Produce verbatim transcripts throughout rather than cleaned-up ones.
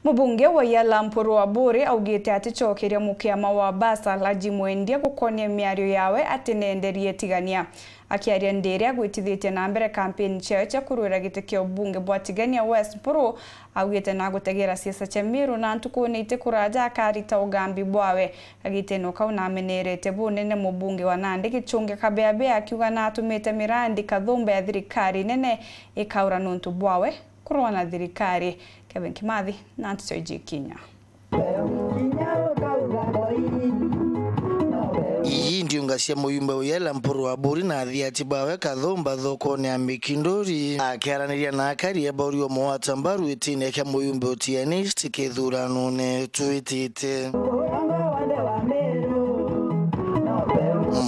Mubunge wa Yala Mpuru Aburi augite aticokeria mukiama wa Basal Haji Mwendia gukonia miario yawe ati neenderie tigania. Akiaria ndiri agwitithite na mbere kampeni ciawe cia kurwira giti kia ubunge bwa Tigania West, Mpuru augite nagutegera siasa cia Meru na ntukune itikuraja akarita ugambi bwawe. Kagitene kau namenerete bunene mubunge wa Nandi Gichunge Kabeabea akiuga natumite mirandi kathumba ya thirikari nene ikaura nuntu bwawe kurwa na thirikari. Kevin Kimathi na Nticho Ijikinya. Ii ndiunga cia muyumbe wa Yala Mpuru Aburi na athiati bawe kathumba thokone ya Mikinduri. Akiaraniria na akari ba Urio Mwata Mbaru itine kia muyumbe utianist kithuranone twitite.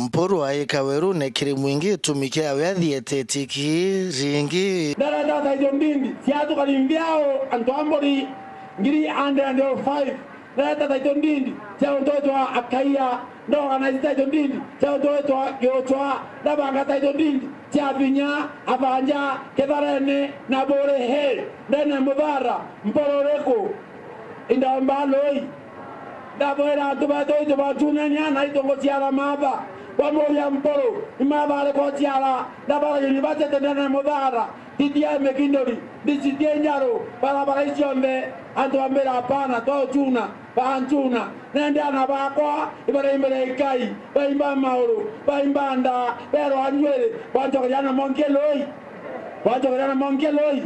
Mpuru aika werune kiri mwingi gitumi kiawe athiete tiki ringi. Ndarenda taitho ndindi ciatukari mbiao antu a Mburi ngiri and and five. Ndareta taitho ndindi cia untu witwa Akaia. Ndaorganize taitho ndindi cia untu witwa Giuchwa. Ndabanga taitho ndindi cia Vinya, Abanja, Kitharene na Buri. He ndene muthara Mpuru uriku? Indaomba lui. Ndabwira antu betu itu bantunenia na itongo ciara matha. Bamuria Mpuru, ni matha ariku ciara? Ndabara university ndene muthara. Titia Mikinduri, ndicitie njaru, barabara icionthe, antu ambira, hapana, twauchuna, baanchuna. Nende ana bakwa, ibara imbere ikai, baimba mauru, baimba nda, berwa njwiri, bwanchokeria na monkie lui. Bwanchokeria na monkie lui.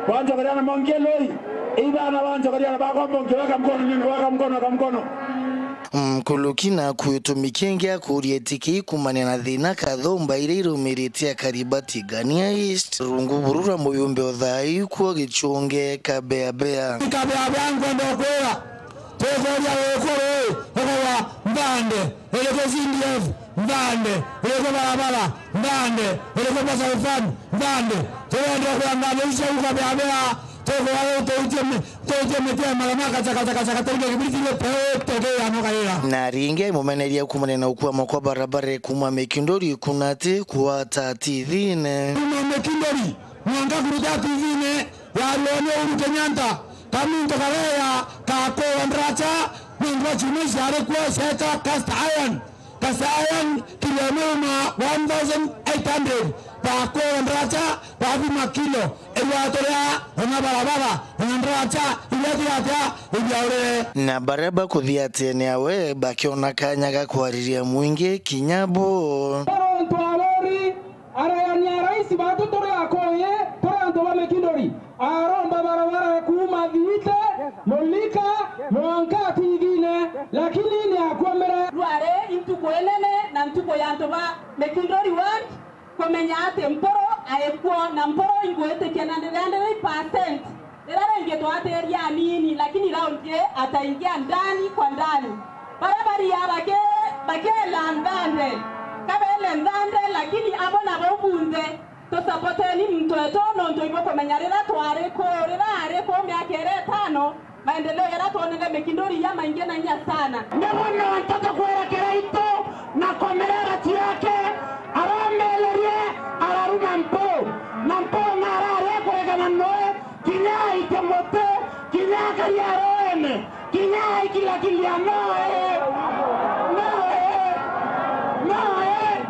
Bwanchokeria na monkie lui. Ibana bwanchokeria na bakwa monkie, weka mkono, nini, weka mkono, weka mkono. Nkuruki naku gitumi kingi akuria iti kii kumania na thina kathumba iria irumirite akari ba Tigania East. Rungu buru rwa muyumbe o thaa ii kuo Gichunge Kabeabea. Kabeabea nkwenda kwira, tukuria wikuru ii, ukauga nthande, iriku C D F, nthande, iriku barabara, nthande, iriku Basal Fund, nthande. Turenda kwenda nthande iu cia Kabeabea, tukuria ii tuitie mi-, Tuitie miti ya marama, kacha, kacha, kacha, katarika kibiriti ile peo, toke ya noka ira. Na ringi aimumeneria kumanena ukwama kwa barabara kuma Mikinduri kunati kuata T V-ne. Kuma Mikinduri, mwanka kuruta T V-ne, ya Ruoni Uhuru Kenyatta, kaminto kareya, kakowa ndracha, nontu wa chuma ici ari kuo cietwa cast iron. Kasayan kilo muma one thousand eight hundred, bakwira ndracha, bathima kilo, irwatorea, ona barabara, ona ndracha, iria tigata, ibiaurire. Na baria bakuthia atene awe, bakiona kanya ga kwariria mwingi kinya bo. Paronto Aburi, arayania rais batu turi Akuyu, turi antu ba Mikinduri. Aromba barabara kuuma Thiite, Mulika, mwanka T V-ne, lakini ni akwomere. Rwari intuku inene na ntuku ya antu ba Mikinduri Ward kumenya ati Mpuru aikuo, na Mpuru ingwitikia na ndiri hundred percent. Rira ringi twatiria anini, lakini raundi ii ataingia ndani kwa ndani. Baria baria baki-, bakiela nthande, kabele nthande, lakini abo nabo bunthe. Tusapoteni muntu wetu, nontu ibukumenya rira twari ku, rira ari ku miaka iri itano, maendeleo jaria twonere Mikinduri ja maingi na inya sana. Nibo nontu tukwira Kiraitu na komerera ciake, aromererie, araruma Mpuru, na Mpuru narari kuregana noe, kinya aitie muti, kinya akaria roene. Kinya aikilakilia, no, eh. No, eh. No, eh.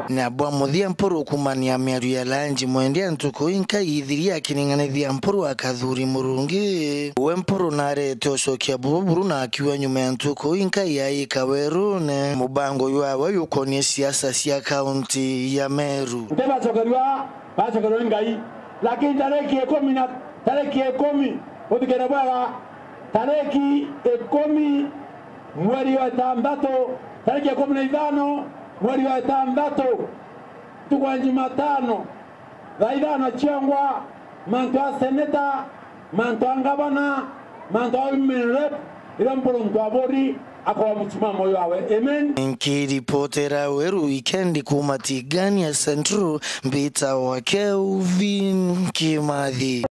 Na bwa muthia Mpuru kumania miario ya lanji mwendia ntuku inkai ithiria akining'anithia Mpuru akathuri Murungi. We Mpuru narete ucokia buruburu na akiuga nyuma ya ntuku inkai aika werune. Mubango jwawe jukonie siasa cia kaunti ya Meru. Ntibacokerua, bacokerua ni Ngai. Lakini tariki ikumi na, tariki ikumi, uthikire bwega, tariki ikumi mweri wa itantatu, tariki ikumi na ithano mweri wa itantatu, ntuku ya Jumatano, thaa ithano ciongwa, mantu a seneta, mantu a ngavana, mantu a women rep, iria Mpuru Aburi akoa msimamo wawe. Amen. Nkiripotera Weru Weekend kuma Tigania Central, mbita wa Kelvin Kimathi.